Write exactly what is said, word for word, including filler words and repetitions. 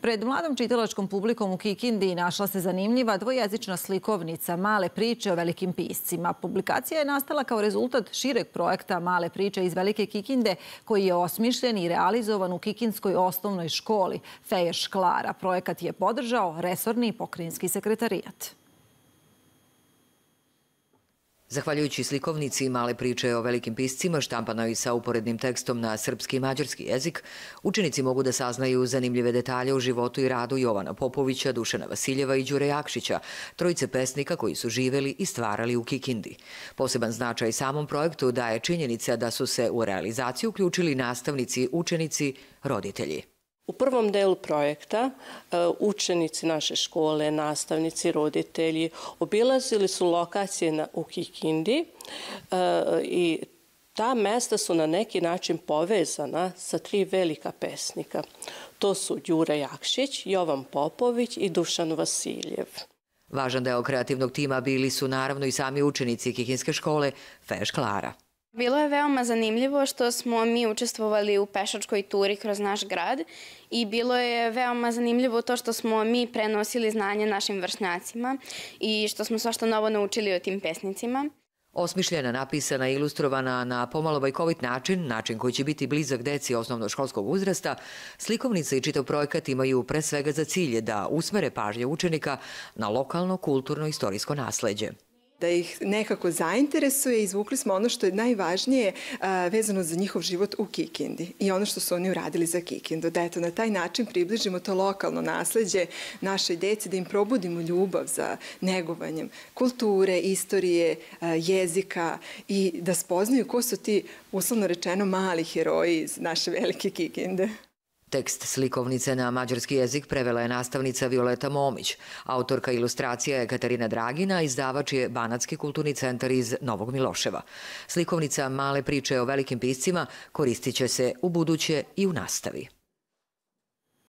Pred mladom čitalačkom publikom u Kikindi našla se zanimljiva dvojezična slikovnica Male priče o velikim piscima. Publikacija je nastala kao rezultat šireg projekta Male priče iz Velike Kikinde, koji je osmišljen i realizovan u Kikindskoj osnovnoj školi Feješ Klara. Projekat je podržao resorni pokrajinski sekretarijat. Zahvaljujući slikovnici Male priče o velikim piscima, štampanoj sa uporednim tekstom na srpski i mađarski jezik, učenici mogu da saznaju zanimljive detalje u životu i radu Jovana Popovića, Dušana Vasiljeva i Đure Jakšića, trojice pesnika koji su živeli i stvarali u Kikindi. Poseban značaj samom projektu daje činjenica da su se u realizaciju uključili nastavnici, učenici, roditelji. U prvom delu projekta učenici naše škole, nastavnici, roditelji obilazili su lokacije u Kikindi i ta mesta su na neki način povezana sa tri velika pesnika. To su Đura Jakšić, Jovan Popović i Dušan Vasiljev. Važan deo kreativnog tima bili su naravno i sami učenici Kikinske škole Feješ Klara. Bilo je veoma zanimljivo što smo mi učestvovali u pešačkoj turi kroz naš grad i bilo je veoma zanimljivo to što smo mi prenosili znanje našim vršnjacima i što smo svašta novo naučili o tim pesnicima. Osmišljena, napisana i ilustrovana na pomalo bajkovit način, način koji će biti blizak deci osnovnoškolskog uzrasta, slikovnica i čitav projekat imaju pre svega za cilj da usmere pažnje učenika na lokalno, kulturno, istorijsko nasleđe. Da ih nekako zainteresuje, izvukli smo ono što je najvažnije vezano za njihov život u Kikindi i ono što su oni uradili za Kikindu. Da eto, na taj način približimo to lokalno nasleđe našoj deci, da im probudimo ljubav za negovanjem kulture, istorije, jezika i da spoznaju ko su ti, uslovno rečeno, mali heroji iz naše velike Kikinde. Tekst slikovnice na mađarski jezik prevela je nastavnica Violeta Momić. Autorka ilustracija je Katarina Dragina, izdavač je Banatski kulturni centar iz Novog Miloševa. Slikovnica Male priče o velikim piscima koristit će se u buduće i u nastavi.